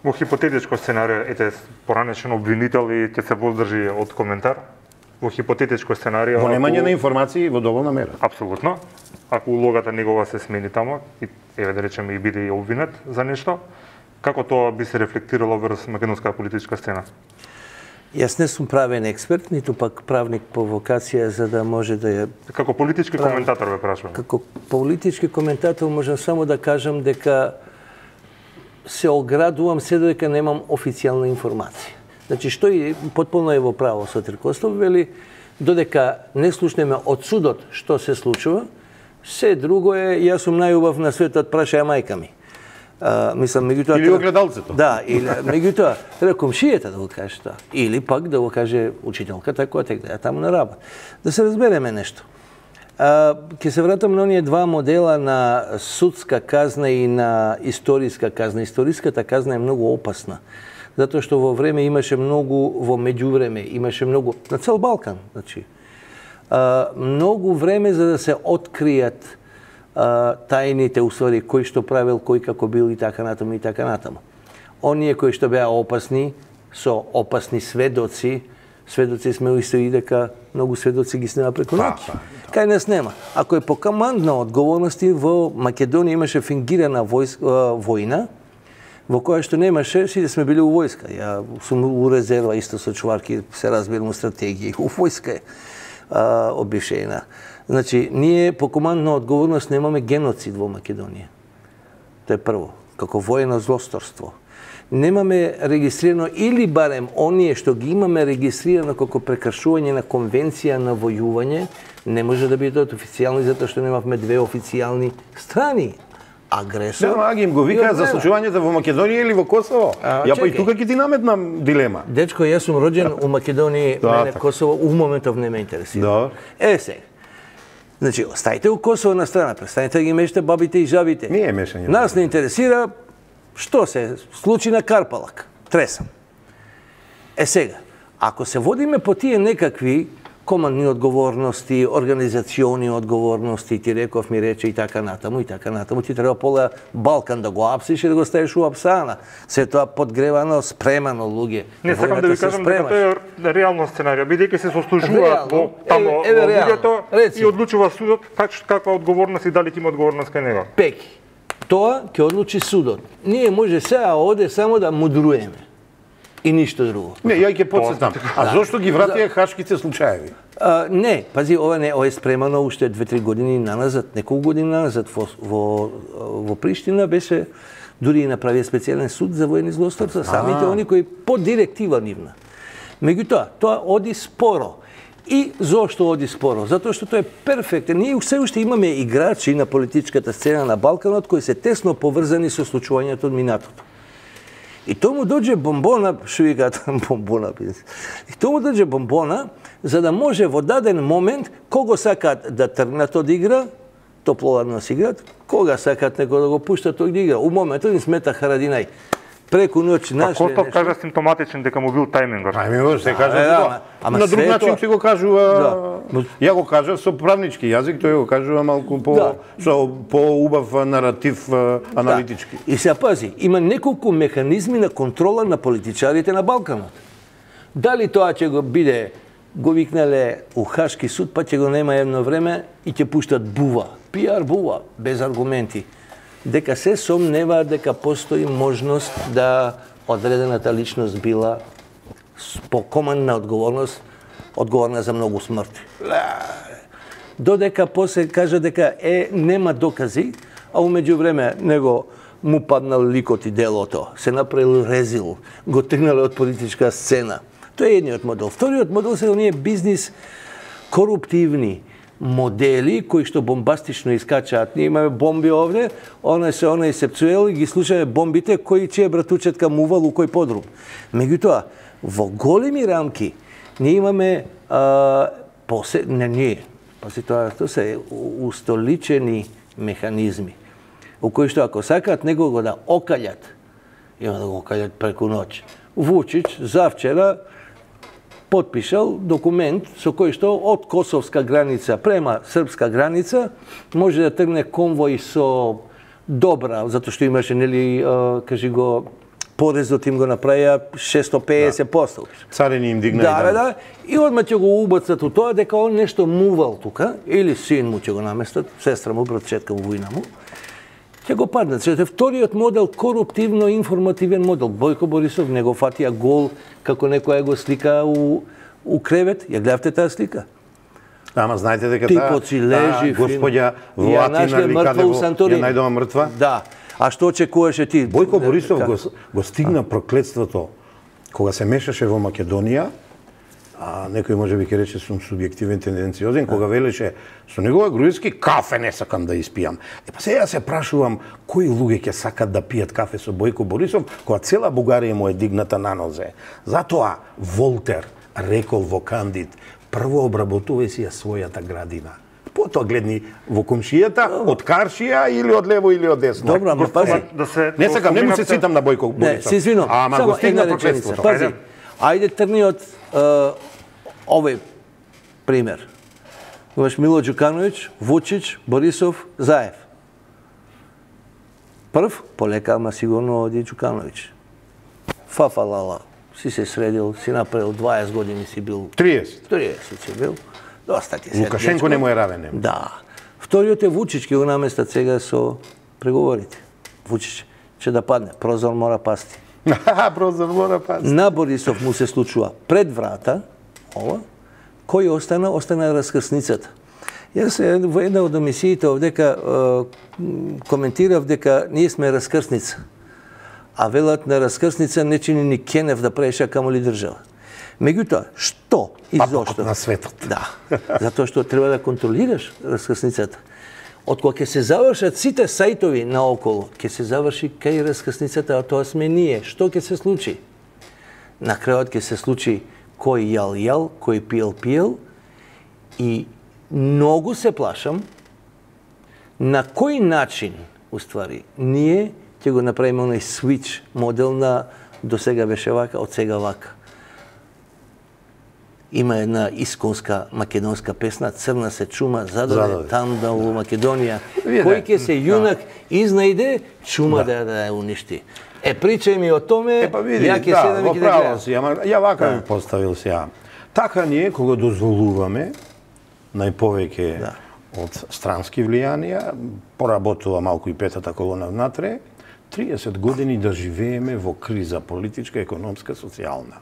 Во хипотетичко сценарио, ете, поранешен обвинител и ќе се воздржи од коментар. Во хипотетичко сценарио... Во немање на информации во доволна мера. Апсолутно. Ако улогата негова се смени тамо, и еве да речеме и биде и обвинет за нешто, како тоа би се рефлектирало врз македонска политичка сцена? Јас не сум правен експерт, ниту пак правник по вокација за да може да ја... Како политички коментатор ве прашувам. Како политички коментатор можам само да кажам дека се оградувам се додека немам официјална информација. Значи, што и потполно е во право Сотир Костов, вели, додека не слушнеме од судот што се случува, се друго е, јас сум најубав на светот, прашаја мајка ми. Мислам, меѓутоа... Или огледалцето. Да, или меѓутоа, треба комшијата да го каже тоа. Или пак да го каже учителката која тек да ја таму на работа. Да се разбереме нешто. Ќе се вратам на оние два модела на судска казна и на историска казна. Историската казна е многу опасна. Затоа што во време имаше многу, во меѓувреме имаше многу, на цел Балкан, значи, многу време за да се откријат тајните уствари, кој што правил, кој како бил и така натаму и така натаму. Оние кои што беа опасни, со опасни сведоци, сведоци сме исто и дека многу сведоци ги снема преку ноќ. Кај нас нема. Ако е по командна одговорности, во Македонија имаше фингирана војна, во која што немаше, сите сме били у војска. Ја сум у резерва исто со чуварки, се разбирам у стратегија, у војска е обишена. Значи, ние по командна одговорност немаме геноцид во Македонија. Тоа е прво, како воено злосторство. Немаме регистрирано, или барем оние што ги имаме регистрирано како прекршување на конвенција на војување, не може да бидат официјални, затоа што немавме две официјални страни. Агресор. Да, ги им го викаат за случувањето во Македонија или во Косово. Ја па и тука ќе ти наметнам дилема. Дечко, јас сум роđен у Македонија, мене Косово у моментов не ме интересира. Сега. Значи, оставите у Косово на страна, престанете да ги мешате бабите и жабите. Не е мешање. Нас не интересира што се случи на Карпалак. Тресам. Сега, ако се водиме по тие некакви командни одговорности, организациони одговорности, ти реков ми рече и така натаму, ти треба пола Балкан да го апсиш и да го ставиш у апсана. Се тоа подгревано, спремано, луѓе. Не сакам да ви кажам дека тоа е реално сценарио, бидејќи се сослужуваат во тамо луѓето и одлучува судот каква одговорност и дали ќе има одговорност кај него. Пеки. Тоа ќе одлучи судот. Ние може сега оде само да мудруеме. И ништо друго. Не, ја ќе потсетам. А зошто ги вратија хашките случаеви? Не, пази, ова е спремано уште 2-3 години наназад, неколку години наназад во Приштина беше дури и направија специјален суд за воени злосторства, самите они кои по директива нивна. Меѓутоа, тоа оди споро. И зошто оди споро? Затоа што тоа е перфектен. Ние се уште имаме играчи на политичката сцена на Балканот кои се тесно поврзани со случувањето од минатото. И тоа му дојде бомбона, што викаат бомбона, и тоа му дојде бомбона, за да може во даден момент, кого сакаат да тргнат од игра, топлоладно си играат, кога сакаат некој да го пуштат од игра. У моментот им смета Харадинај. Преку ноќ нашле нешто. Костов кажа симптоматичен дека му бил тајмингот. Тајмингот се кажа тоа. На друг начин се го кажува. Ја го кажав со правнички јазик, тој го кажува малку по убав наратив аналитички. И се пази, има неколку механизми на контрола на политичарите на Балканот. Дали тоа ќе го биде го викнале у Хашки суд, па ќе го нема едно време и ќе пуштат бува, пиар бува, без аргументи. Дека се сомневаат дека постои можност да одредената личност била по командна одговорност, одговорна за многу смрти. Додека после кажа дека нема докази, а умеѓу време него му паднал ликот и делото, се направил резил, го тргнале од политичка сцена. Тоа е едниот модел. Вториот модел се оние бизнис коруптивни модели кои што бомбастично искачаат. Ние имаме бомби овде, онај се пцуел и ги слушаме бомбите кои чија братучетка мувал у кој подрум. Меѓутоа, во големи рамки ние имаме тоа се устоличени механизми у кои што ако сакаат некого да окалјат, има да го окалјат преку ноќ. Вучич завчера потпишал документ со кој што од косовска граница према српска граница може да тргне конвој со добра, затоа што имаше, нели, кажи го, порезот им го направија 650%. Царини им дигнаја. Да, и одма ќе го убацат у тоа дека он нешто мувал тука, или син му ќе го наместат, сестра му, братчетка му, војна му, ќе го паднат. Вториот модел, коруптивно-информативен модел. Бојко Борисов не го фатија гол како некоја го слика у кревет. Ја гледавте таа слика? Ама знаете дека типот си лежи, господја Влатина или каде ја најдова мртва? Да. А што очекуваше ти? Бојко Борисов го стигна проклетството кога се мешаше во Македонија, а некој може би ќе рече сум субјективен, тенденциозен, кога велеше со негова грузински кафе не сакам да испијам. Па сега се прашувам кои луѓе ќе сакат да пијат кафе со Бојко Борисов кога цела Бугарија му е дигната на нозе. Затоа Волтер рекол во Кандид: прво обработувај си ја својата градина. Потоа гледни во комшијата, од Каршија или од лево или од десно. Добро, ама пази. Не сакам, не му се цитам на Бојко Борисов. Не, се извинувам. Ама го стигна проклетството. Пази, ајде трни од овој пример. Имаш Мило Ѓукановиќ, Вучич, Борисов, Заев. Прв, полека, ама сигурно оди Ѓукановиќ. Фафалала, си се средил, си направил 20 години си бил. 30. 30 си бил. Доста ти се. Лукашенко не му е равен. Да. Вториот е Вучич, ќе го наместат сега со преговорите. Вучич ќе да падне, прозор мора пасти. Прозор мора пасти. На Борисов му се случува пред врата, ова, кој остана? Остана раскрсницата. Јас во една од емисиите овдека коментирав дека ние сме раскрсница. А велат на раскрсница не чини ни Кенев да преша камоли држава. Меѓутоа, што и зошто? На светот. Да, затоа што треба да контролираш раскрсницата. Од кога ќе се завршат сите сајтови наоколу, ќе се заврши кај раскрсницата, а тоа сме ние. Што ќе се случи? На крајот ќе се случи кој јал, кој пиел, и многу се плашам на кој начин, уствари, ние ќе го направиме оној switch модел на до сега беше вака, од сега вака. Има една исконска македонска песна, Црна се чума, зададе там да во Македонија. Кој ќе се јунак изнајде, чума да ја уништи. Причај ми о томе, ја ќе седам и ќе да гледам. Ја вака ми поставил сега. Така ние, кога дозволуваме, најповеќе од странски влијанија, поработува малку и петата колона внатре, 30 години да живееме во криза политичка, економска, социјална.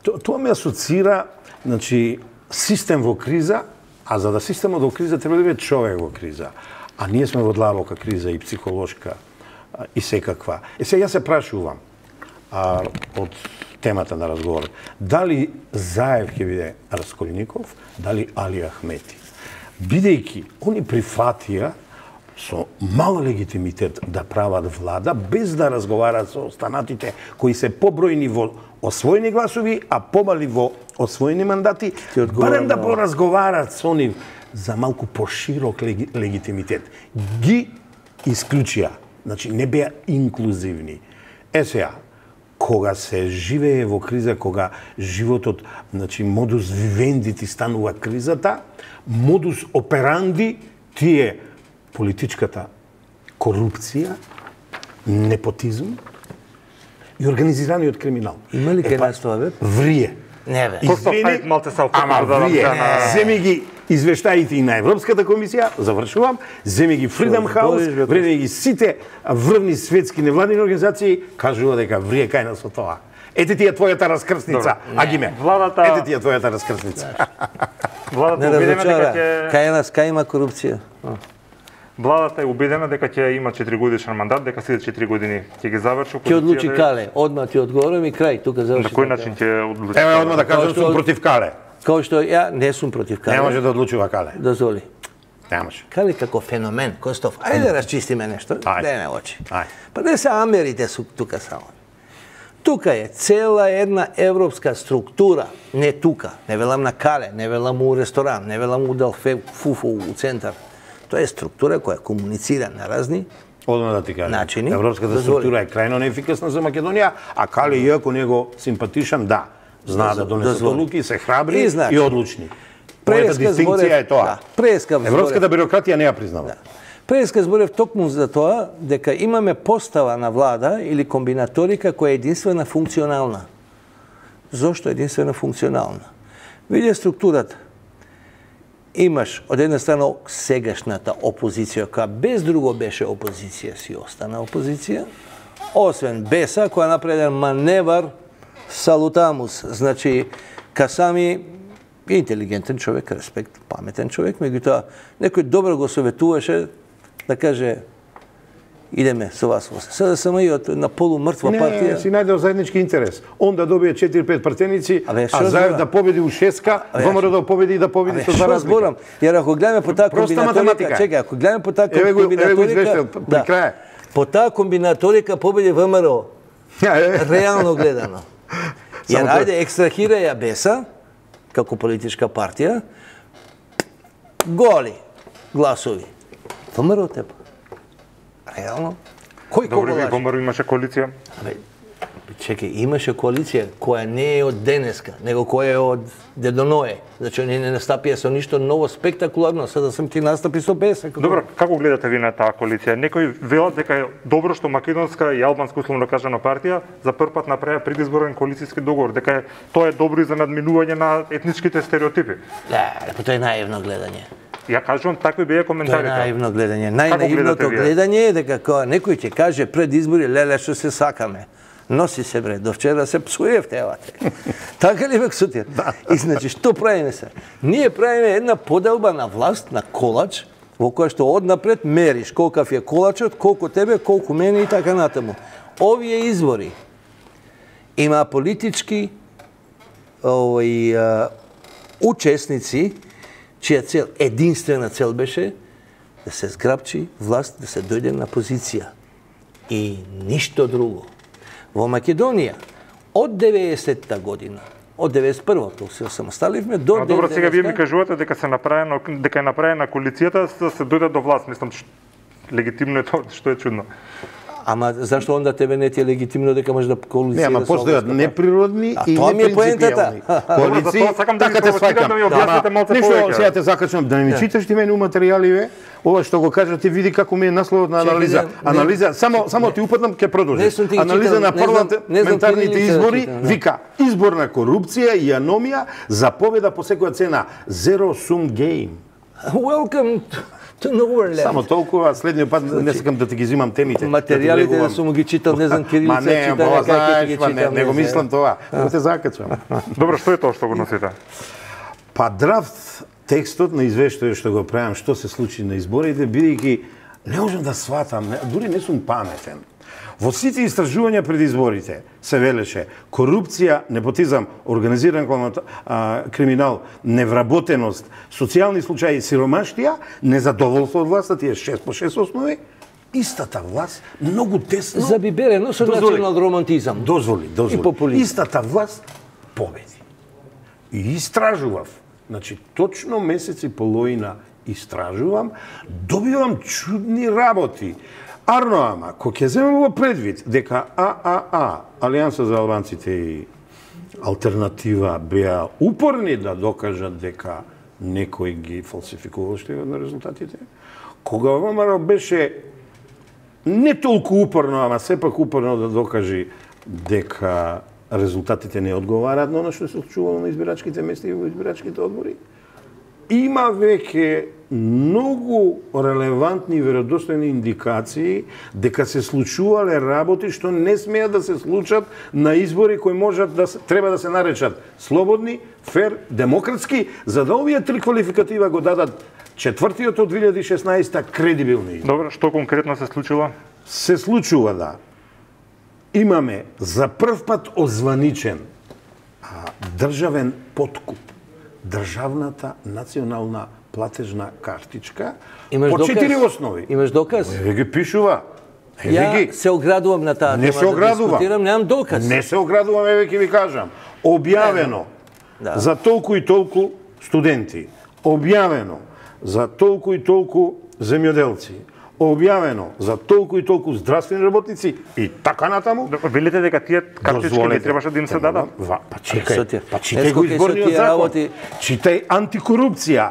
Тоа ме асоцира, значи, систем во криза, а за да системот во криза треба да биде човек во криза. А ние сме во длабока криза и психолошка и секаква. Сега јас се прашувам од темата на разговор, дали Заев ќе биде Расколников, дали Али Ахмети. Бидејќи они прифатија со мал легитимитет да прават влада, без да разговарат со останатите кои се побројни во освоени гласови, а помали во освоени мандати, барем да поразговарат со нив за малку поширок легитимитет. Ги исклучија, значи не беа инклузивни. Сега, кога се живее во криза, кога животот, значи модус вивенди ти станува кризата, модус операнди ти е политичката корупција, непотизм и организираниот криминал. Има ли кај нас тоа, бе? Врие. Не, бе. Ама врие. Земи ги извештаите и на Европската комисија, завршувам, земи ги Freedom House, вреди ги сите врвни светски невладини организации, кажува дека врие кај нас со тоа. Ете ти е твојата раскрсница, Агиме. Ете ти е твојата раскрсница. Не разочара, кај нас, кај има корупција. Владата е убедена дека ќе има 4-годишен мандат, дека сите 4 години ќе ги заврши. Ќе одлучи Кале, одма ти одговорам и крај, тука заврши. На кој начин ќе одлучи? Ево одма да кажам сум против Кале. Као што ја не сум против Кале. Не може да одлучува Кале. Дозволи. Не може. Кале како феномен, Костов. Ајде да расчистиме нешто. Не очи. Ајде. Па не се америте су тука само. Тука е цела една европска структура, не тука, не велам на Кале, не велам у ресторан, не велам у Делфе Фуфу у центар. Тоа е структура која комуницира на разни Одма да ти кажам. начини. Европската структура е крајно неефикасна за Македонија, а Кале иако него симпатичен, да, знаа да донесат одлуки, се храбри и одлучни. Мојата дистинкција е тоа. Прескав Европската бирократија не ја признава. Преска зборев токму за тоа дека имаме постава на влада или комбинаторика која е единствена функционална. Зошто единствена функционална? Види структурата. Имаш од една страна сегашната опозиција, која без друго беше опозиција, си остана опозиција, освен Беса, која направи еден маневар салутамус, значи Касами интелигентен човек, респект, паметен човек, меѓутоа некој добро го советуваше да каже идеме со вас. Сега само и на полумртва партија. Не, си најдел заеднички интерес. Он да добие 4-5 пратеници, а Заев да победи у 6-ка, ВМРО да победи и да победи со 2 разлика. Јер ако гледаме по таа комбинаторика, чекај, ако гледаме по таа комбинаторика, по таа комбинаторика победи ВМРО. Реално гледано. Јер ајде екстрахира ја Беса како политичка партија, голи гласови. ВМРО тепа. Реално? Кој кого лаже? Добре, ВМРО имаше коалиција. Чекај, имаше коалиција која не е од денеска, него која е од Дедоное. Значи, не настапија со ништо ново спектакуларно, сега сам ти настапи со Беса. Добро, како гледате ви на таа коалиција? Некои велат дека е добро што македонска и албанска условно кажано партија за прв пат направи предизборен коалицијски договор, дека тоа е добро и за надминување на етничките стереотипи. Да, тоа е наивно гледање. Ја кажувам, такви беа коментарите. Тоа е наивно гледање. Најнаивното гледање е дека кога некој ќе каже пред избори, леле што се сакаме. Носи се бре, до вчера се псуевте, евате. Така ли бе Сотир? И значи, што правиме се? Ние правиме една поделба на власт, на колач, во која што однапред мериш колкав е колачот, колку тебе, колку мене и така натаму. Овие избори има политички учесници, чија цел, единствена цел беше да се зграбчи власт, да се дојде на позиција. И ништо друго. Во Македонија, од 90-та година, од 91-та се самоставивме до 90-та... Добро, сега вие ми кажувате дека е направена коалицијата да се дојде до власт. Мислам, легитимно е тоа, што е чудно. Ама зашто онда тебе не ти е легитимно дека можеш да коалиција? Не, ама постојат неприродни и непринципијални коалиции. Така те сваќам. Нешто сега те закачам да не ми читаш ти мене у материјаливе, ова што го кажа ти види како ми е насловот на анализа. Анализа, само ти упатнам, ќе продолжи. Анализа на парламентарните избори, вика, изборна корупција и аномија за победа по секоја цена. Zero sum game. Welcome to Nowhereland. Само толкова, следниот пат не сакам да ти ги зимам темите. Материјалите да сум ги читал, не знам кирилица, читал, как ги читам. Не го мислам тоа, да те закачам. Добро, што е тоа што го носите? Па драфт текстот на извештајот што го правам, што се случи на изборите, бидејќи не можам да сватам, дури не сум паметен. Во сите истражувања пред изборите се велеше корупција, непотизам, организиран криминал, невработеност, социјални случаи, сиромаштија, незадоволство од власта, тие 6 по 6 основи, истата власт многу тесно... Забиберено со национален романтизам. Дозволи. И популизм. Истата власт победи. И истражував. Значи, точно месец и половина истражувам, добивам чудни работи. Арно, ама, кога ќе земам во предвид дека ААА, Алијанса за албанците и Алтернатива беа упорни да докажат дека некој ги фалсификувал што на резултатите, кога ВМРО беше не толку упорно, ама сепак упорно да докажи дека резултатите не одговараат на оно што се случувало на избирачките места и во избирачките одбори, има веќе многу релевантни и веродостојни индикации дека се случувале работи што не смеат да се случат на избори кои можат да треба да се наречат слободни, фер, демократски, за да овие три квалификатива го дадат четвртиот од 2016 кредибилни. Добро, што конкретно се случило? Се случува да имаме за прв пат озваничен државен подкуп. Државната национална платежна картичка по 4 основи. Имаш доказ? Еве ги пишува. Ја се оградувам на таа тема да дискутирам, немам доказ. Не се оградувам, еве ќе ви кажам. Објавено за толку и толку студенти, објавено за толку и толку земјоделци, објавено за толку и толку здравствени работници и така натаму. Велите дека тие картички не требаше да им се дадат? Па чекај го изборниот закон. Читај антикорупција,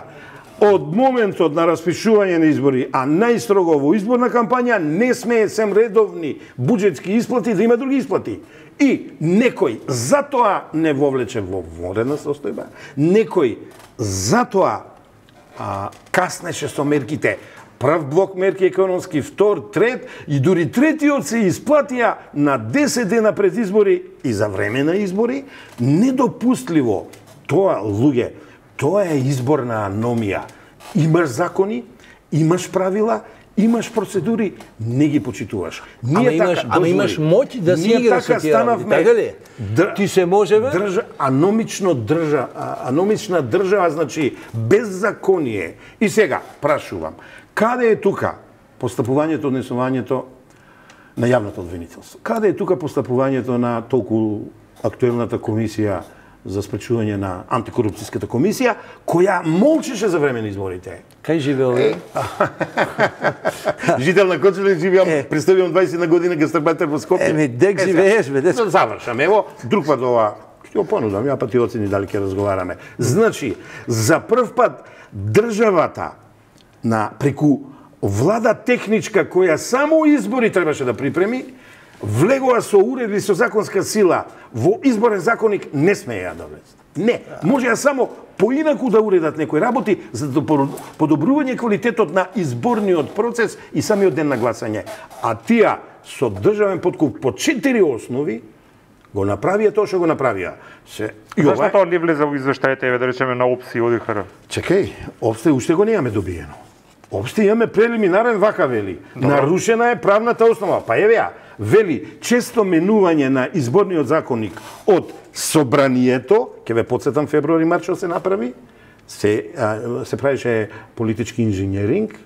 од моментот на распишување на избори, а најстрого во изборна кампања, не смее сем редовни буџетски исплати да има други исплати. И некој затоа не вовлече во вонредна состојба, некој затоа каснеше со мерките. Прв блок мерки економски, втор, трет и дури третиот се исплатија на 10 дена пред избори и за време на избори. Недопустливо. Тоа, луѓе, тоа е изборна аномија. Имаш закони, имаш правила, имаш процедури, не ги почитуваш. Ама имаш моќ да си играш со тие работи, така ли? Ти се може, бе? Аномична држава, значи беззаконие. И сега, прашувам, каде е тука постапувањето, однесувањето на јавното обвинителство? Каде е тука постапувањето на толку актуелната комисија за спречување на антикорупцијската комисија, која молчеше за време на изборите? Кај живеел ве? Жител на Кочеле, живеам, представувам 20 година гастарбајтер во Скопје. Дек живееш, бе, дек. Завршам, ево, друг пат ова, ќе го понудам, ја па ти оцени дали ќе разговараме. Значи, за прв пат државата преку влада техничка која само избори требаше да припреми, влегува со уредби со законска сила во изборен законник, не смеја да влезат. Не, можеа само поинаку да уредат некои работи за да подобрување квалитетот на изборниот процес и самиот ден на гласање. А тие со државен подкуп по 4 основи го направија тоа што го направија. Зашто тоа не влезе во извештајите, да речеме, на ОПСИ и ОДИХР? Чекај, ОПСТ уште го немаме добиено. Обште имаме прелиминарен, вака вели. Нарушена е правната основа. Па еве ја, вели често менување на изборниот законник од собранието, ќе ве подсетам февруари-март што се направи, се правише политички инженеринг,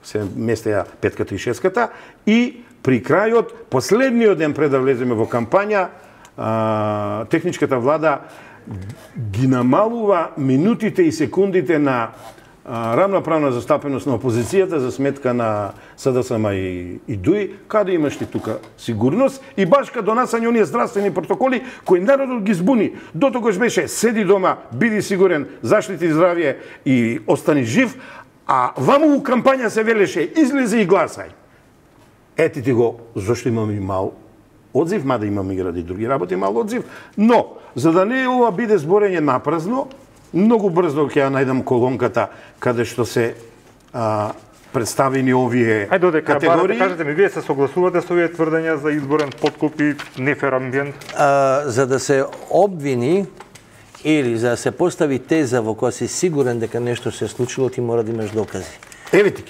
се местеја петката и шестката, и при крајот, последниот ден пред да влеземе во кампања, техничката влада ги намалува минутите и секундите на рамноправна застапеност на опозицијата за сметка на СДСМ и ДУИ, каде имаш ти тука сигурност и баш кај донасање оние здравствени протоколи кои народот ги збуни. Дотогаш беше седи дома, биди сигурен, заштити здравје и остани жив, а ваму у кампања се велеше излези и гласај. Ети ти го, зашто имаме мал одзив, мада имаме и ради други работи мал одзив, но за да не ова биде зборење напразно, многу брзо ќе ја најдам колонката каде што се представени овие категории. Кажете ми, вие се согласувате со овие тврдења за изборен подкуп и нефер амбиент? За да се обвини или за да се постави теза во која си сигурен дека нешто се случило, ти мора да имаш докази. Еве ти,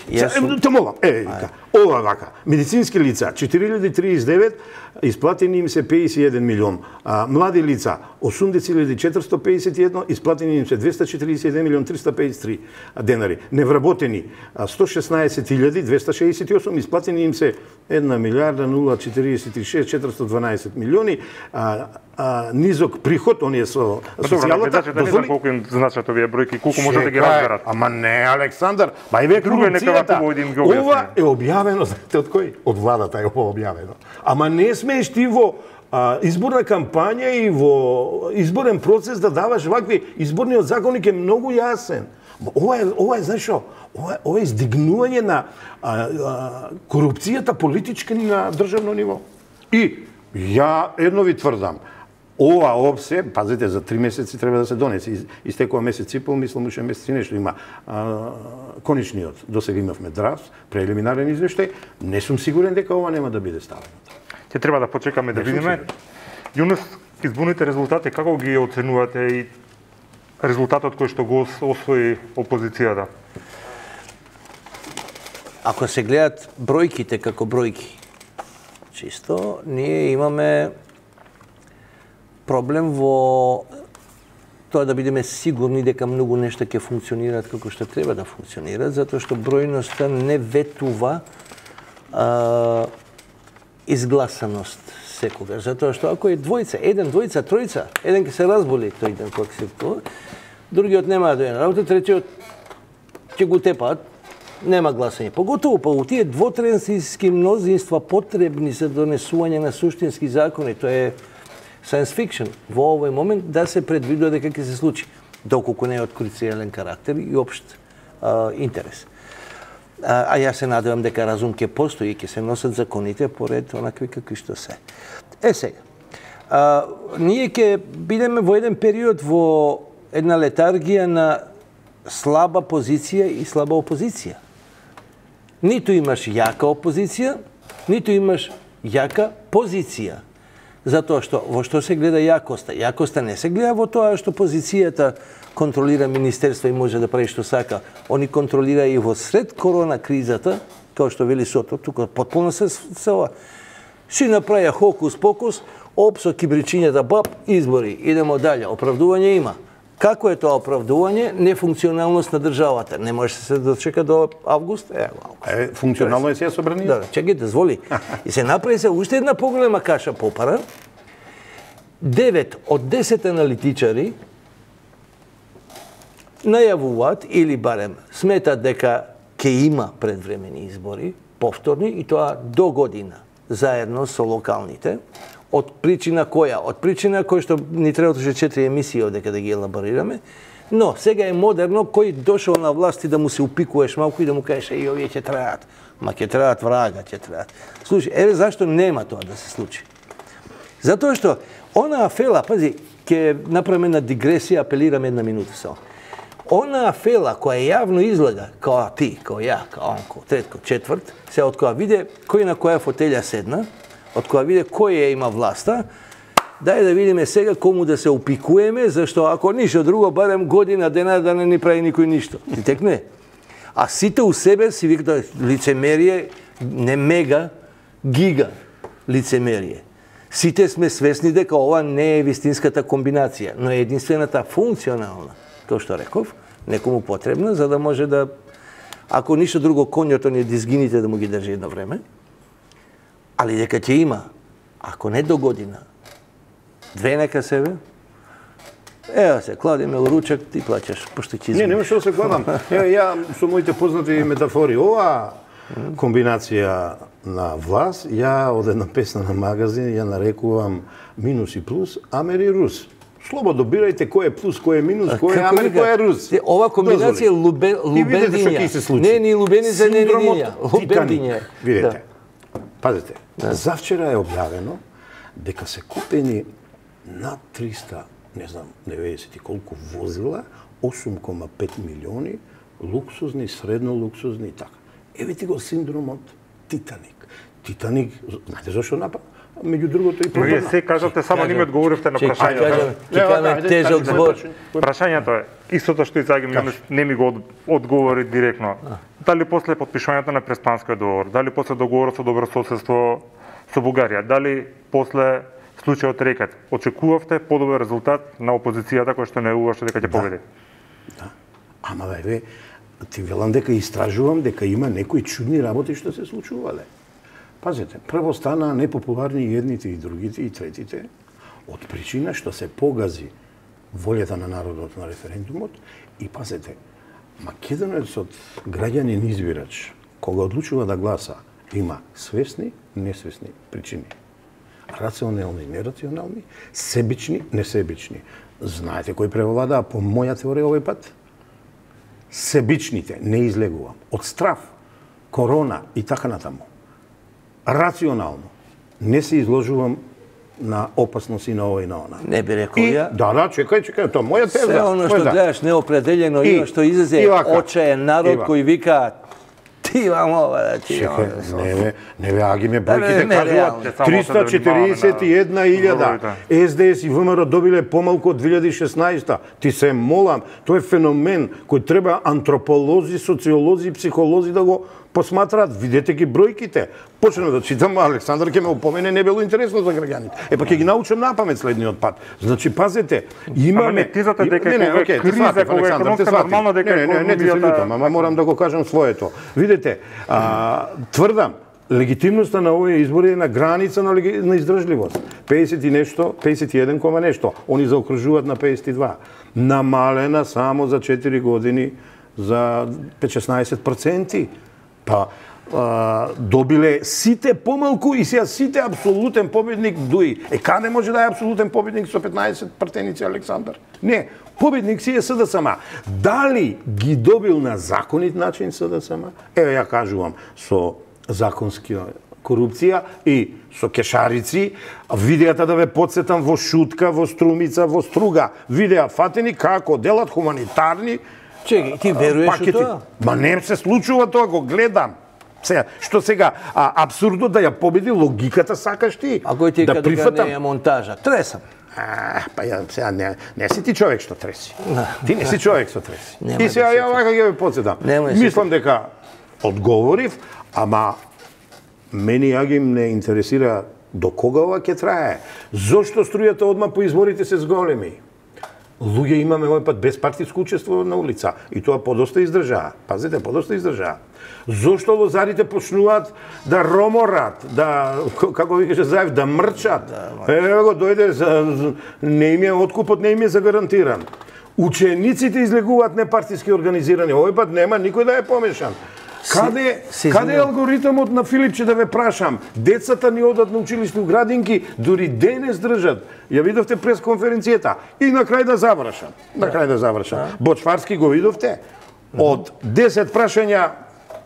те молам, ова вака. Медицински лица 4039, исплатени им се 51 милион. Млади лица 80.451, исплатени им се 241 милион 353 денари. Невработени 116.268, исплатени им се 1 милиарда 046 412 милиони. Низок приход, оние со социјалната. Да не знам колку им значат овие бројки, колку може да ги разберат. Ама не, Александар, ба и ве корупцијата. Ова е објавено, знаете од кој? Од владата е ова објавено. Ама не смееш ти во изборна кампања и во изборен процес да даваш вакви. Изборниот законник е многу јасен. Ова е, знаеш што? Ова е издигнување на корупцијата политичка на државно ниво. И ја едно ви тврдам, ова опсе, пазите, за 3 месеци треба да се донесе. Истекува месец и пол, мислам, уште месец и нешто има. Конечниот, досега имавме драфт, прелиминарен извештај, не сум сигурен дека ова нема да биде ставено. Ќе треба да почекаме да видиме. Јунус, изборните резултати, како ги оценувате и резултатот кој што го освои опозицијата? Ако се гледат бројките како бројки, чисто, ние имаме проблем во тоа да бидеме сигурни дека многу нешта ќе функционираат како што треба да функционираат, затоа што бројноста не ветува изгласаност секогаш. Затоа што ако е двојца, еден, двојца, тројца, еден ќе се разболи тој ден кога се тоа, другиот нема да дојде на работа, третиот ќе го тепаат, нема гласање. Поготово па у тие двотренски мнозинства потребни за донесување на суштински закони, тоа е science fiction во овој момент да се предвидува дека ќе се случи, доколку не е од круцијален карактер и општ интерес. А јас се надевам дека разум ќе постои и ќе се носат законите поред онакви какви што се. Сега, ние ќе бидеме во еден период во една летаргија на слаба позиција и слаба опозиција. Ниту имаш јака опозиција, ниту имаш јака позиција. Затоа што во што се гледа јакоста? Јакоста не се гледа во тоа што позицијата контролира министерство и може да прави што сака. Они контролира и во сред корона кризата, како што вели Сото, тука потполно се ова. Си направија хокус-покус, опсо кибричињата, бап, избори, идемо дале, оправдување има. Како е тоа оправдување? Нефункционалност на државата. Не може се дочека до август? Функционално е се собрани? Да, чекај, дозволи. И се направи се уште една поголема каша попара. 9 од 10 аналитичари најавуваат или барем сметат дека ќе има предвремени избори, повторни, и тоа до година, заедно со локалните. Од причина која? Од причина која што ни требат уште 4 емисии одека да ги елаборираме, но сега е модерно кој дошол на власт и да му се упикуваш малку и да му кажеш и овие ќе траат. Ма ќе траат врага, ќе траат. Слушай, еве зашто нема тоа да се случи. Затоа што она афела, пази, ќе направиме една дигресија, апелирам една минута само. Она афела која јавно излага, као ти, као ја, као онко, третко, четврт, се од која виде кој на која фотелја седна, од која виде кој ја има власта, дај да видиме сега кому да се упикуеме, зашто ако ништо друго, барем година дена да не ни прави никој ништо. И тек не. А сите у себе си викаат лицемерие, не мега, гига лицемерие. Сите сме свесни дека ова не е вистинската комбинација, но е единствената функционална, тоа што реков, некому потребна, за да може да, ако ништо друго, конјото не дизгините да му ги држи едно време, али дека ќе има, ако не до година, 2 нека себе, ева се, кладиме у ручак, ти плаќаш, пошто ќе Не, нема што се кладам. Ја со моите познати метафори, ова комбинација на власт, ја од една песна на магазин, ја нарекувам минус и плюс, Амер и Рус. Слободно бирајте кој е плюс, кој е минус, кој е Амер, кој е Рус. Ова комбинација лубендиња. Не, ни лубеница, не ни лубендиња. Видете, пазете, завчера е објавено дека се купени над 300, не знам, 90 и колку возила, 8,5 милиони, луксузни, средно луксузни и така. Еве ти го синдромот Титаник. Титаник, знаете зашто напад? Меѓу другото и пропадна. Вие се кажате, само не ми одговоривте на прашањето. Ќе кажеме тежок збор. Прашањето е, истото што Ицаги не ми го одговори директно. Дали после потпишувањето на Преспанскиот договор, дали после договорот со добрососедство со Бугарија, дали после случајот Рекет, очекувавте подобар резултат на опозицијата која што најавуваше дека ќе победи? Да. Ама еве, ти велам дека истражувам дека има некои чудни работи што се случувале. Пазете, прво стана непопуларни и едните и другите и третите од причина што се погази волјата на народот на референдумот и пазете, македонецот граѓанин избирач кога одлучува да гласа има свесни, несвесни причини. Рационални, нерационални, себични, несебични. Знаете кој превладаа по моја теорија овој пат? Себичните, не излегувам. Од страв, корона и така натаму. Рационално, не се изложувам на опасност и на ова и на она. Не би рекол ја. Да, чекај, тоа моја теза. Се оно што гледаш неопределено има, што излезе очаен народ кој вика ти имам ова да ти имам. Не бе, аги ме бројките кажуват 341.000. СДС и ВМРО добиле помалку од 2016. Ти се молам, тоа е феномен кој треба антрополози, социолози и психолози да го посматраат. Видете ги бројките. Почнем да читам, Александар ќе ме упомене, не било интересно за граѓаните. Па ќе ги научам напамет следниот пат. Значи, пазете, имаме... Ама не тизате дека кога криза, кога економска нормално дека економијата... Не, ти се лутам, ама морам да го кажам своето. Видите, тврдам, легитимноста на овие избори е на граница на издржливост. 50 и нешто, 51 кома нешто. Они заокружуваат на 52. Намалена само за 4 години за 5-16%. Па, добиле сите помалку и сега сите апсолутен победник дуи. Каде може да е апсолутен победник со 15 партеници Александар? Не, Победник си е СДСМ. Дали ги добил на законит начин СДСМ? Еве ја кажувам, со законска корупција и со кешарици, видеата да ве подсетам во Шутка, во Струмица, во Струга, видеа фатени како делат хуманитарни Чекај, ти веруваш во тоа? Ма не се случува тоа, го гледам. Што сега, апсурдно да ја победи логиката сакаш ти. А кој ти да дека прифатам. не е монтажа? Тресам. Па ја сега не си ти човек што треси. Ти не си човек што треси. Нема И сега да ја вака ќе ве подсетам. Немој Мислам дека одговорив, ама мене ја ги не интересира до кога ова ќе трае. Зошто струјата одма по изборите се зголеми? Луѓе имаме овој пат безпартиско учество на улица и тоа подоста издржаа. Пазите, подоста издржаа. Зошто лозарите почнуваат да роморат, да, како ви каже Заев, да мрчат? Еве го дојде, не им е откупот, не им е загарантиран. Учениците излегуваат непартиски организирани. Овој пат нема никој да е помешан. Каде е алгоритмот на Филипче, да ве прашам? Децата ни одат на училиште у градинки, дури денес држат. Ја видовте прес конференцијата. И на крај да завршам. Бочварски го видовте? Од 10 прашања,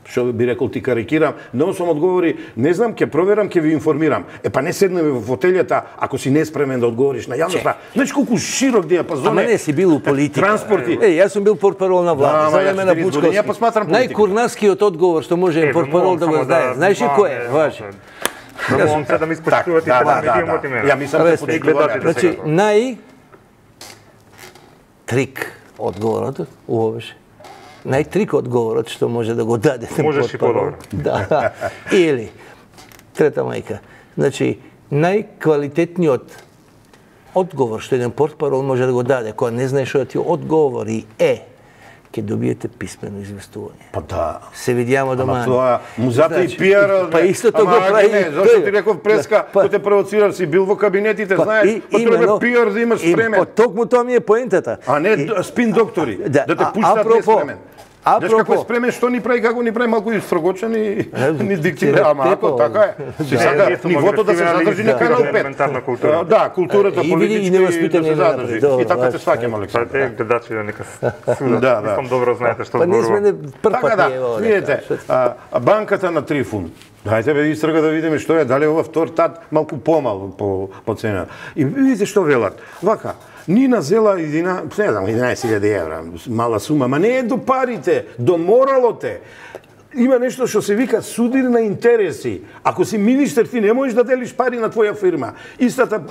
што би рекол ти карикирам, на 8 одговори, не знам, ќе проверам, ќе ви информирам. Па не седнеме во фотелјата, ако си неспремен да одговориш на јавноста. Знаеш колку широк диапазон е. Ама не си бил у политика. Транспорти. Јас сум бил портпарол на влада, за време на Бучковски. Ја посматрам политика. Најкурнаскиот одговор што може портпарол да го знае. Знаеш ли кој е? Важи. Мовам се да ми испочитувате да медиумот и мене. Ја мислам да подигледате. Значи, трик одговорот, уво беше. Најтрик одговорот што може да го дадете. Можеш и подобро. Да. Или, трета мајка, значи, најквалитетниот одговор што еден портпарол може да го даде, кога не знае што да ти одговори е, ќе добиете писмено известување. Па да. Се видијамо дома. Ама тоа, музата и пиар. Па истото го прави. Зашто ти реков преска, кој те провоцираш, си бил во кабинетите, знаеш, па треба пиар да имаш спремен. Токму тоа ми е поентата. А не спин доктори, да те пуштат неспремен. Знаеш како е спремен, што ни прави, како ни прави малку и строгочен и ни диктира, ама ако така е. Си сака нивото да се задржи на канал 5. Да, културата, политички да се задржи. И така те сваќам, Александр. Па те гледачи да нека судат. Мислам добро знаете што зборувам. Па ние сме прв пат е ово. Видите, банката на Трифун. Дајте бе истрага да видиме што е, дали ова втор тат малку помал по цена. И видите што велат. Вака, Нина зела 11.000 евра, мала сума, ма не е до парите, до моралоте. Има нешто што се вика судир на интереси. Ако си министер, ти не можеш да делиш пари на твоја фирма.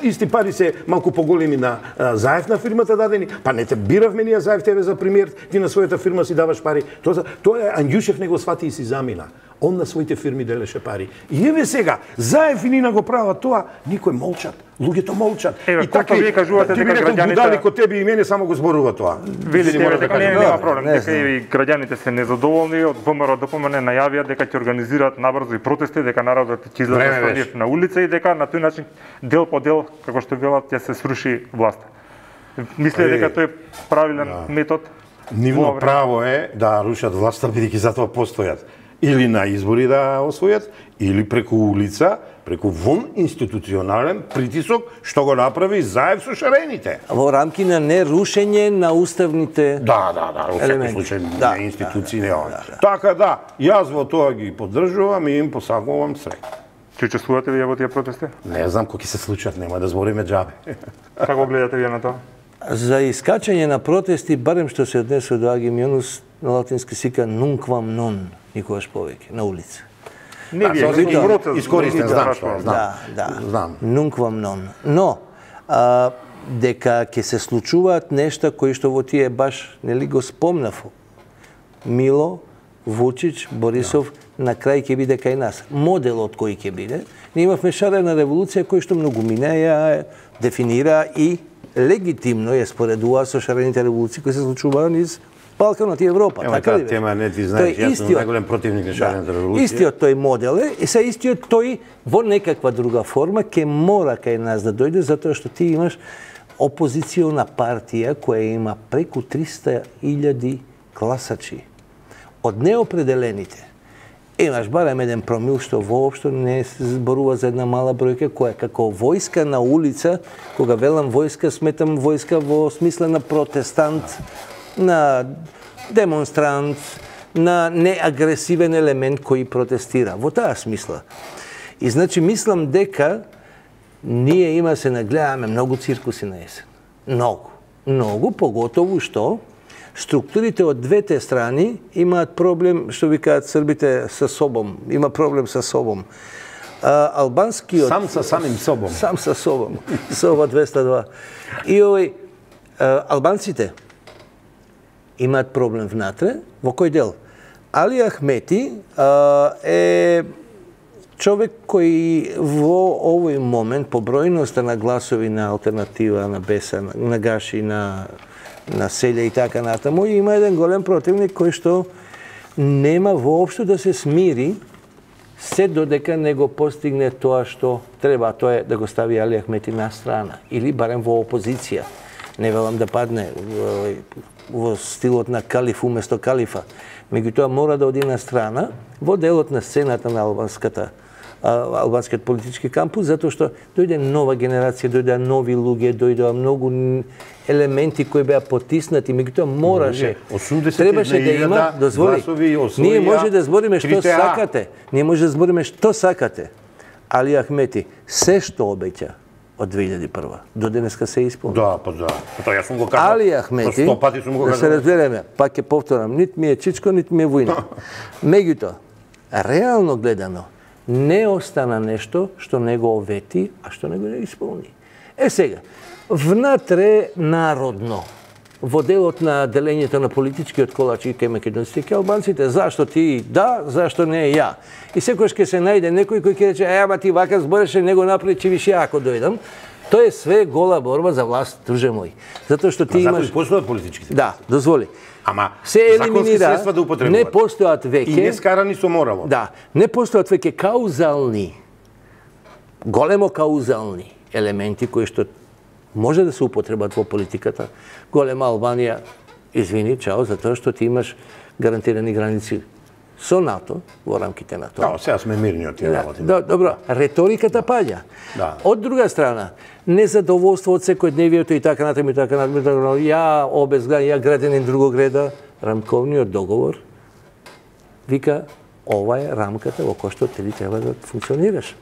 Исти пари се малку поголеми на Заев на фирмата дадени. Па не те биравме ние Заев тебе за премиер, ти на својата фирма си даваш пари. Тоа е Андјушев не го свати и си замина. Он на своите фирми делеше пари. И еве сега, Заев и Нина го прават тоа, никој молчат. Луѓето молчат. И така вие кажувате дека граѓаните будали ко тебе и мене само го зборува тоа. Видите дека нема проблем, дека и граѓаните се незадоволни, од ВМРО ДПМН најавија дека ќе организираат набрзо и протести, дека народот ќе излезе на улица и дека на тој начин дел по дел, како што велат, ќе се сруши власта. Мисле дека тој е правилен метод? Нивно право е да рушат власта бидејќи затоа постојат. Или на избори да освојат, или преку улица, преку вон институционален притисок, што го направи Заев со шарените. Во рамки на нерушење на уставните Да, во секој случај на институции не ова. Така да, јас во тоа ги поддржувам и им посакувам среќа. Ќе учествувате вие во тие протести? Не знам кои ќе се случат, нема да збориме џабе. Како гледате вие на тоа? За искачање на протести, барем што се однесува до Агимионус, на латински сика nunquam non, никогаш повеќе, на улица. Не вие, искористен, знам. Nunquam non. Но, дека ќе се случуваат нешта кои што во тие баш, нели го спомнав, Мило, Вучич, Борисов, на крај ќе биде кај нас. Моделот кој ќе биде, ние имавме шарена револуција кој што многу минеја, дефинира и легитимно ја споредува со шарените револуции кои се случуваат низ Балканот и Европа. Така ли? Тема не ти знаеш, јас сум најголем противник на шарената револуција. Истиот тој модел е, и се истиот тој во некаква друга форма ќе мора кај нас да дојде, затоа што ти имаш опозициона партија која има преку 300.000 гласачи. Од неопределените имаш барем еден промил што воопшто не се зборува за една мала бројка која како војска на улица, кога велам војска, сметам војска во смисла на протестант, на демонстрант, на неагресивен елемент кој протестира. Во таа смисла. И значи мислам дека ние има се нагледаме многу циркуси на есен. Многу, поготово што структурите од двете страни имаат проблем, што викаат србите, со собом. Има проблем со собом. Албанскиот... Сам со самим собом. Сам со собом. Соба 202. И овој, албанците имаат проблем внатре. Во кој дел? Али Ахмети е човек кој во овој момент по бројноста на гласови на алтернатива, на Беса, на Гаши, на Селја и така натаму, има еден голем противник кој што нема воопшто да се смири се додека не го постигне тоа што треба, тоа е да го стави Али Ахмети на страна или барем во опозиција. Не велам да падне во стилот на калиф уместо калифа. Меѓутоа мора да оди на страна во делот на сцената на албанскиот политички кампус, затоа што дојде нова генерација, дојде нови луѓе, дојдоа многу елементи кои беа потиснати, меѓутоа мораше, требаше да има, дозволи, ние може да збориме што сакате, Али Ахмети се што обеќа од 2001 до денеска се исполни. Да, па да. Тоа јас сум го кажал. Али Ахмети, да се разбереме, пак ќе повторам, нит ми е чичко, нит ми е војна. Меѓутоа, реално гледано, не остана нешто што не го овети, а што не го не исполни. Сега, внатре народно, во делот на делењето на политичкиот колач и кај македонците и кај албанците, зашто ти да, зашто не ја. И секојаш ќе се најде некој кој ќе рече, ама ти вака збореше, не го направи, че више ако дојдам. Тоа е све гола борба за власт, друже мој. Затоа што ти имаш... Затоа постојат политичките. Да, дозволи. Ама се елиминира, средства да употребуваат. Не постојат веќе... И не скарани со морало. Да, не постојат веќе каузални, големо каузални елементи кои што може да се употребат во политиката. Голема Албанија, извини, чао, затоа што ти имаш гарантирани граници со НАТО, во рамките на тоа. Да, сега сме мирни од тие работи. Добро, реториката паѓа. Да. Од друга страна, незадоволство од секојдневието и така натаму, ја обезгледан, ја граденин другог реда, рамковниот договор вика, ова е рамката во која што ти треба да функционираш.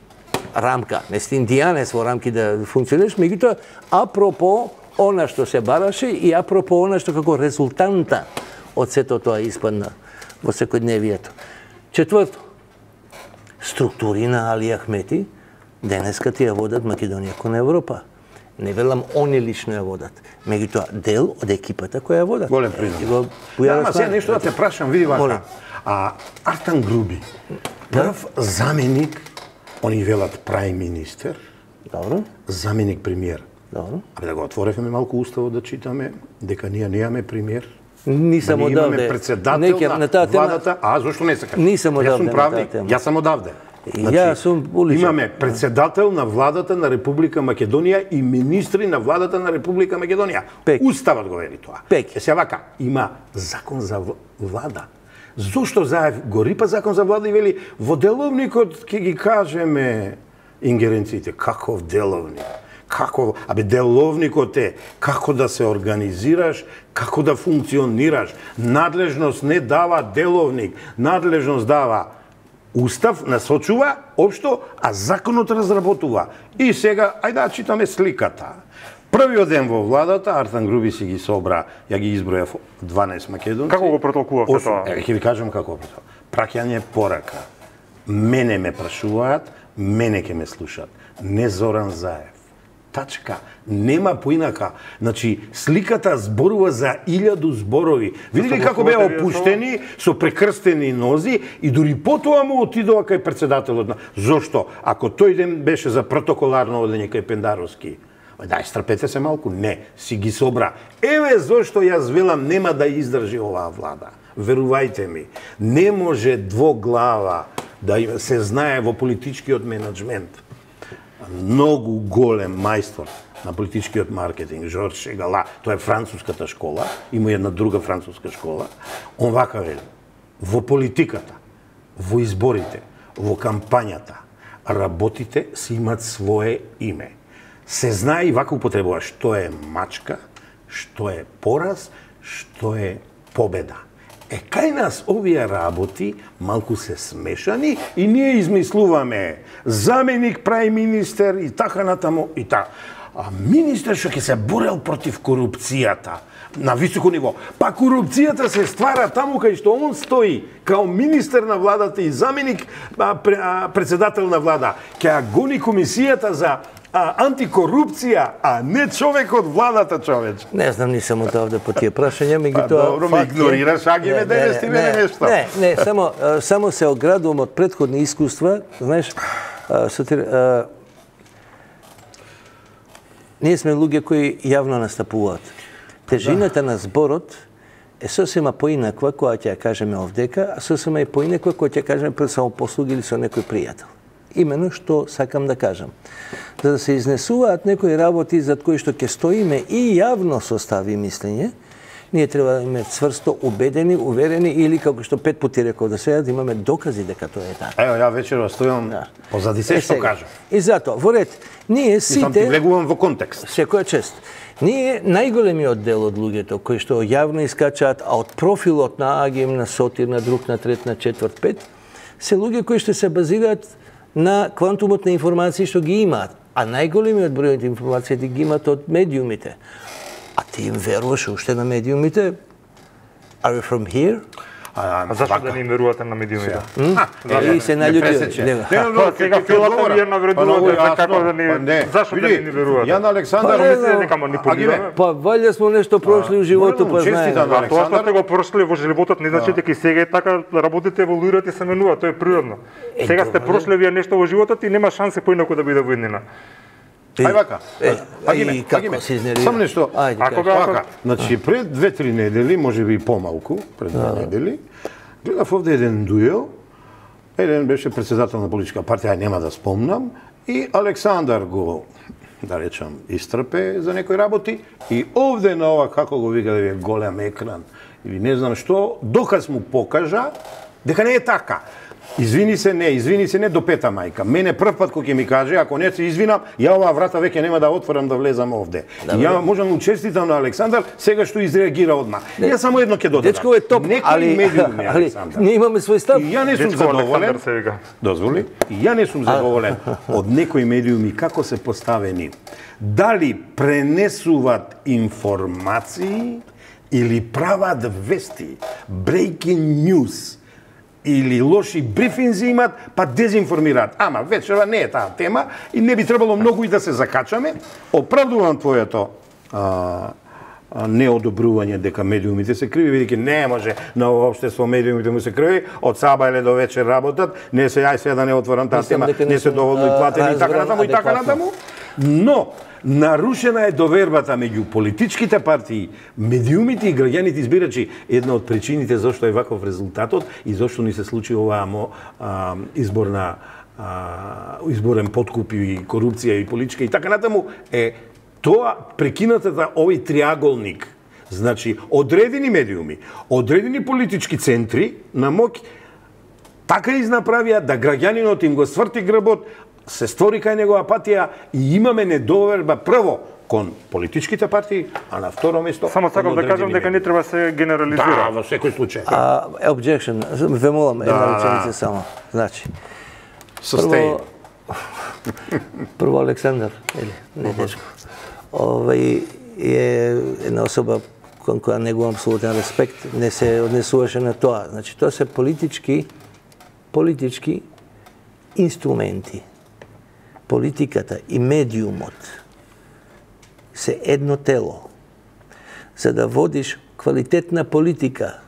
Рамка, не си индијанец во рамки да функционираш, меѓутоа апропо она што се бараше и апропо она што како резултанта од сето тоа испадна во секојдневието. Четврто, структури на Али Ахмети денеска ти ја водат Македонија кон Европа. Не велам они лично ја водат, меѓутоа дел од екипата која ја водат. Голем признак. Ама сега нешто да те прашам, види вака. Артан Груби, прв заменик, они велат праим министер, добро, заменик премиер. Добро. Абе да го отворевме малку уставот да читаме дека ние немаме премиер. Нисам одавде. Имаме председател на владата. А зошто не се кажа? Нисам одавде. Јас сум правник. Јас сам одавде. Јас сум уличен. Имаме председател на владата на Република Македонија и министри на владата на Република Македонија. Уставот го вели тоа. Се вака, има закон за влада. Зошто Заев го рипа закон за влада и вели во деловникот ќе ги кажеме ингеренциите. Каков деловник? Како, деловникот е како да се организираш, како да функционираш. Надлежност не дава деловник, надлежност дава устав, насочува општо, а законот разработува. И сега, ајде да читаме сликата. Првиот ден во владата, Артан Груби си ги собра, ја ги изброја 12 македонци. Како го протолкувавте тоа? Ќе ви кажам како го протолкував. Праќање порака. Мене ме прашуваат, мене ќе ме слушаат. Не Зоран Заев. Тачка, нема поинака. Значи, сликата зборува за 1000 зборови. Видели како беа опуштени, со прекрстени нози и дури потоа му отидува кај председателот. Зошто? Ако тој ден беше за протоколарно одење кај Пендаровски, дај, страпете се малку. Не, си ги собра. Еве зошто јас велам нема да издржи оваа влада. Верувајте ми, не може двоглава да се знае во политичкиот менеджмент. Многу голем мајстор на политичкиот маркетинг, Жорж Шегала, тоа е француската школа, има една друга француска школа, он вака вели, во политиката во изборите, во кампањата, работите си имат свое име. Се знае и вака употребува што е мачка, што е пораз, што е победа. Кај нас овие работи малку се смешани и ние измислуваме заменик прави министер и така натаму и така. А министер што ќе се борел против корупцијата на високо ниво. Па корупцијата се ствара таму кај што он стои као министер на владата и заменик председател на влада. Ќе гони комисијата за антикорупција, а не човек од владата, човеч. Не знам, нисам од овде по тие прашања, меѓутоа добро, ме игнорираш, а ги ме девестиме нешто. Не, само се оградувам од претходни искуства, знаеш, ние сме луѓе кои јавно настапуваат. Тежината на зборот е сосема поинаква која ќе ја кажеме овдека, а сосема и поинаква која ќе кажеме пред самопослуга или со некој пријател. Имено што сакам да кажам. За да се изнесуваат некои работи зад кои што ќе стоиме и јавно состави мислење, ние треба да имаме цврсто убедени, уверени или како што 5 пати реков до сега да имаме докази дека тоа е така. Ево, ја вечерва стојам позади се што кажам. И затоа, во ред, ние сите... Сам ти влегувам во контекст. Секоја чест. Ние, најголемиот дел од луѓето кои што јавно искачаат, а од профилот на АГМ, на Сотир, на друг, на трет, на четврт, пет, се луѓе кои што се базираат на квантумот на информации што ги имаат. А најголемиот број од информациите ги имаат од медиумите. А ти им веруваш уште на медиумите? Are you from here? А зашто да не им верувате на медиумите? И се наљути. Сега филата ми ја навредувате како да не... Зашто да не ни верувате? Ја на Александар... Мислите дека манипулираме? Па валја смо нешто прошли у животот, па знаеме. А тоа што сте го прошли во животот не значи дека и сега е така, работите, еволуирате и се менуваат, тоа е природно. Сега сте прошли вие нешто во животот и нема шансе поинаку да биде во иднина. Ај вака. Како се изнервира? Само нешто. Ајде, вака. Значи пред 2-3 недели, можеби и помалку, пред 2 недели, гледав овде еден дуел. Еден беше председател на политичка партија, ај нема да спомнам, и Александар го, да речам, истрпе за некои работи и овде на ова, како го вика да ви е голем екран, или не знам што, доказ му покажа дека не е така. Извини се не до пета мајка. Мене прв пат кој ќе ми каже, ако не се извинам, ја оваа врата веќе нема да отворам да влезам овде. Ја можам да честитам на Александар сега што изреагира одма. Ја само едно ќе додадам. Дечко е топ, али ние имаме свој став. И ја не сум задоволен. Дозволи. И ја не сум задоволен од некои медиуми како се поставени. Дали пренесуваат информации или прават вести, breaking news, или лоши брифинзи имат, па дезинформираат. Ама вечерва не е таа тема и не би требало многу и да се закачаме. Оправдувам твоето неодобрување дека медиумите се криви, бидејќи не може на ова општество медиумите му се криви, од саба или до вечер работат, не се ај сега да не отворам таа тема, не се доволно и платени и така натаму и така натаму. Но нарушена е довербата меѓу политичките партии, медиумите и граѓаните избирачи. Една од причините зашто е ваков резултатот и зашто ни се случи оваа изборен подкуп и корупција и политичка и така натаму е тоа прекинатата овој триаголник. Значи, одредени медиуми, одредени политички центри на моќ така изнаправија да граѓанинот им го сврти грбот, се створи кај него апатија и имаме недоверба прво кон политичките партии, а на второ место... Само сакам да кажам дека не треба се генерализира. Да, во секој случај. Objection, ве молам, една реченица само. Значи, прво Александар, не Дечко, е една особа кон која негувам абсолютен респект, не се однесуваше на тоа. Значи, тоа се политички инструменти. Политиката и медиумот се едно тело. За да водиш квалитетна политика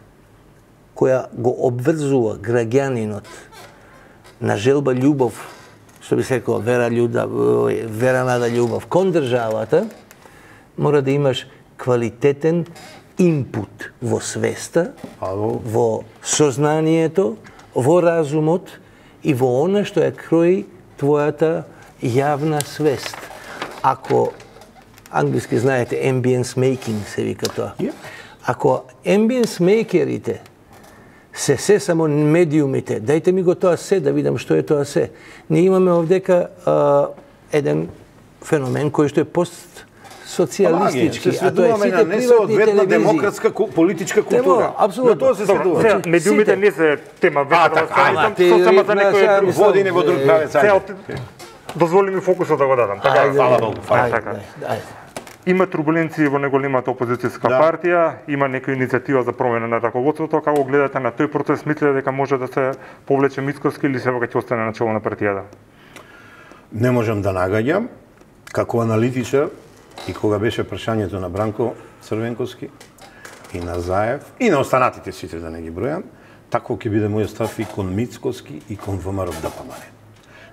која го обврзува граѓанинот на желба љубов, што би се рекол вера нада љубов кон државата, мора да имаш квалитетен инпут во свеста, во сознанието, во разумот и во она што ја крои твојата јавна свест. Ако, англиски знаете, ambience making се вика тоа. Ако ambience makерите се само медиумите. Дајте ми го тоа се да видам што е тоа се. Ние имаме овдека еден феномен кој што е социјалистички, а тоа е сите приватни телевизии. Демократска политичка култура. Апсолутно. На тоа се следува. Медиумите не се тема вечерва, само за некој друг. Води не во друг правец. Дозволи ми фокусот да го дадам. Така, фала Богу. Има турбуленции во неголемата опозицијска партија, има некоја иницијатива за промена на раководството. Како гледате на тој процес, мислите дека може да се повлече Мицкоски или се ќе остане на чело на партијата? Не можам да нагаѓам. Како аналитичар, и кога беше прашањето на Бранко Црвенковски, и на Заев, и на останатите сите да не ги бројам, тако ќе биде мојот став и кон Мицкоски и кон ВМРО ДПМН.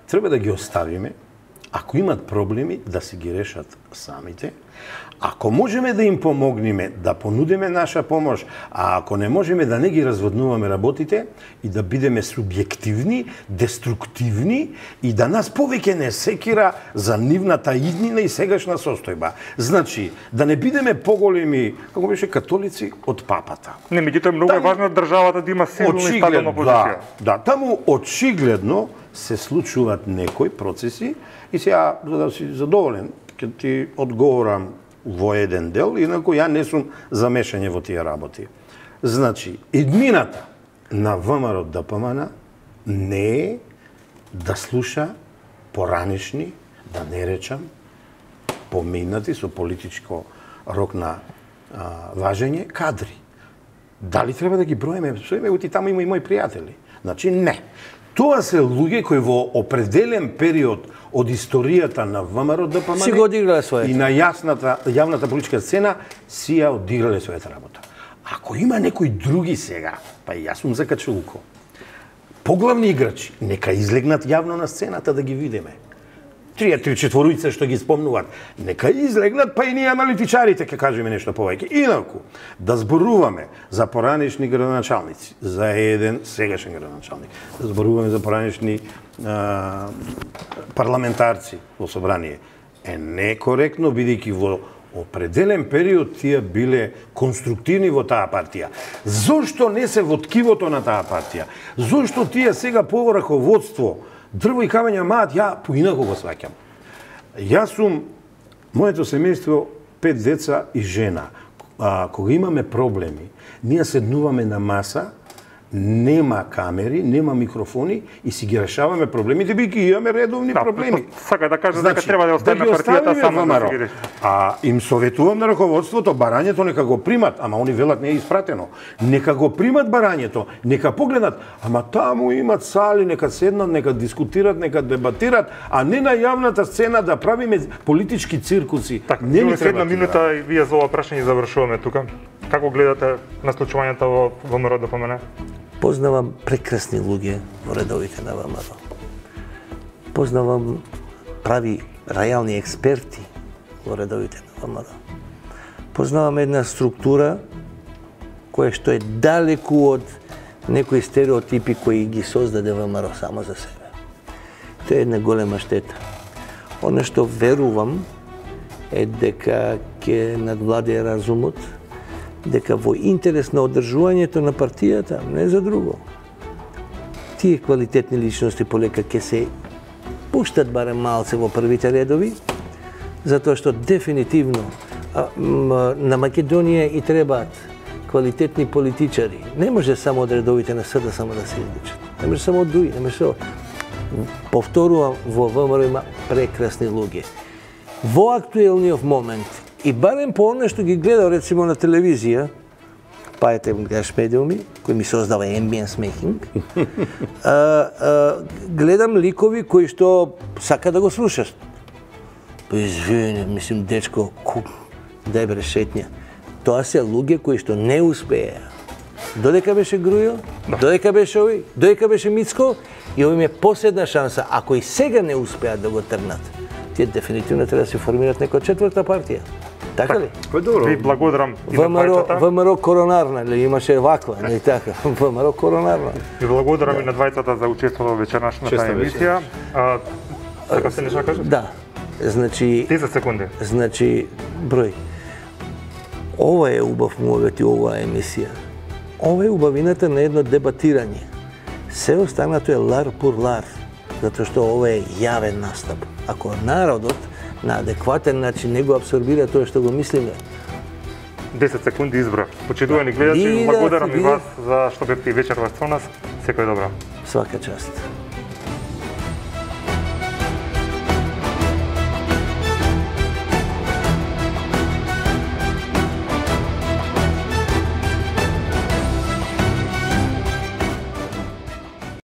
Треба да ги оставиме, ако имат проблеми, да си ги решат самите. Ако можеме да им помогнеме, да понудиме наша помош, а ако не можеме да не ги разводнуваме работите и да бидеме субјективни, деструктивни и да нас повеќе не секира за нивната иднина и сегашна состојба. Значи, да не бидеме поголеми, како беше, католици од папата. Не, меѓутоа многу е важно државата да има силна и стабилна позиција. Да, таму очигледно се случуваат некои процеси и сега, за да си задоволен, ќе ти одговорам во еден дел, инаку ја не сум замешање во тие работи. Значи, иднината на ВМРО ДПМН не е да слуша поранешни, да не речам, поминати со политичко рок на важење кадри. Дали треба да ги броиме? Сојме, таму има и мои пријатели. Значи, не. Тоа се луѓе кои во определен период од историјата на ВМРО ДПМН си го одиграле својата. И на јавната политичка сцена си ја одиграле својата работа. Ако има некои други сега, па и јас сум закачулко, поглавни играчи, нека излегнат јавно на сцената да ги видиме. 3-4 што ги спомнуваат, нека излегнат, па и ние аналитичарите ќе кажеме нешто повеќе. Инаку, да зборуваме за поранешни градоначалници, за еден сегашен градоначалник, да зборуваме за поранешни парламентарци во собрание, е некоректно, бидејќи во определен период тие биле конструктивни во таа партија. Зошто не се во ткивото на таа партија? Зошто тие сега по раководство дрво и камења маат, ја поинако го сваќам. Јас сум, моето семејство, 5 деца и жена. Кога имаме проблеми, ние седнуваме на маса, нема камери, нема микрофони и си ги решаваме проблемите, бидејќи имаме редовни проблеми. Сака да кажа дека треба да оставиме партијата само да ги реши. Им советувам на раководството, барањето нека го примат, ама они велат не е испратено. Нека го примат барањето, нека погледнат, ама таму имат сали, нека седнат, нека дискутират, нека дебатират, а не на јавната сцена да правиме политички циркуси. Не ни треба. Една минута и вие за ова прашање завршуваме тука. Како гледате на случувањето во ВМРО ДПМН? Познавам прекрасни луѓе во редовите на ВМРО. Познавам прави реални експерти во редовите на ВМРО. Познавам една структура која што е далеку од некои стереотипи кои ги создаде ВМРО само за себе. Тоа е една голема штета. Оно што верувам е дека ќе надвладее разумот, дека во интерес на одржувањето на партијата, не за друго. Тие квалитетни личности полека ќе се пуштат барем малце во првите редови, затоа што дефинитивно на Македонија и требаат квалитетни политичари. Не може само од редовите на СД само да се изличат. Не може само од ДУИ, не може само. Повторувам, во ВМРО има прекрасни луѓе. Во актуелниот момент и барем по оно што ги гледам рецимо на телевизија, па ете гледаш медиуми, кои ми создава ambience making, гледам ликови кои што сака да го слушаш. Па извини, мислим, дечко, дај бре шетња. Тоа се луѓе кои што не успеа. Додека беше Грујо, додека беше овој, додека беше Мицко, и овој е последна шанса. Ако и сега не успеат да го тргнат, тие дефинитивно треба да се формираат некоја четврта партија. Така ли? Ви благодарам и на двајцата. ВМРО коронарна, ли имаше ваква, не така. ВМРО коронарна. Ви благодарам и на двајцата за учеството во вечернашната емисија. Така се нешто кажеш? Да. Значи 10 секунди. Значи број. Ова е убав момент и оваа емисија. Ова е убавината на едно дебатирање. Се останато е лар пур лар, затоа што ова е јавен настап. Ако народот на адекватен начин не го абсорбира тоа што го мислиме, 10 секунди избра. Почитувани гледачи, благодарам и вас за што бевте и вечерва со нас. Секој добро. Свака част.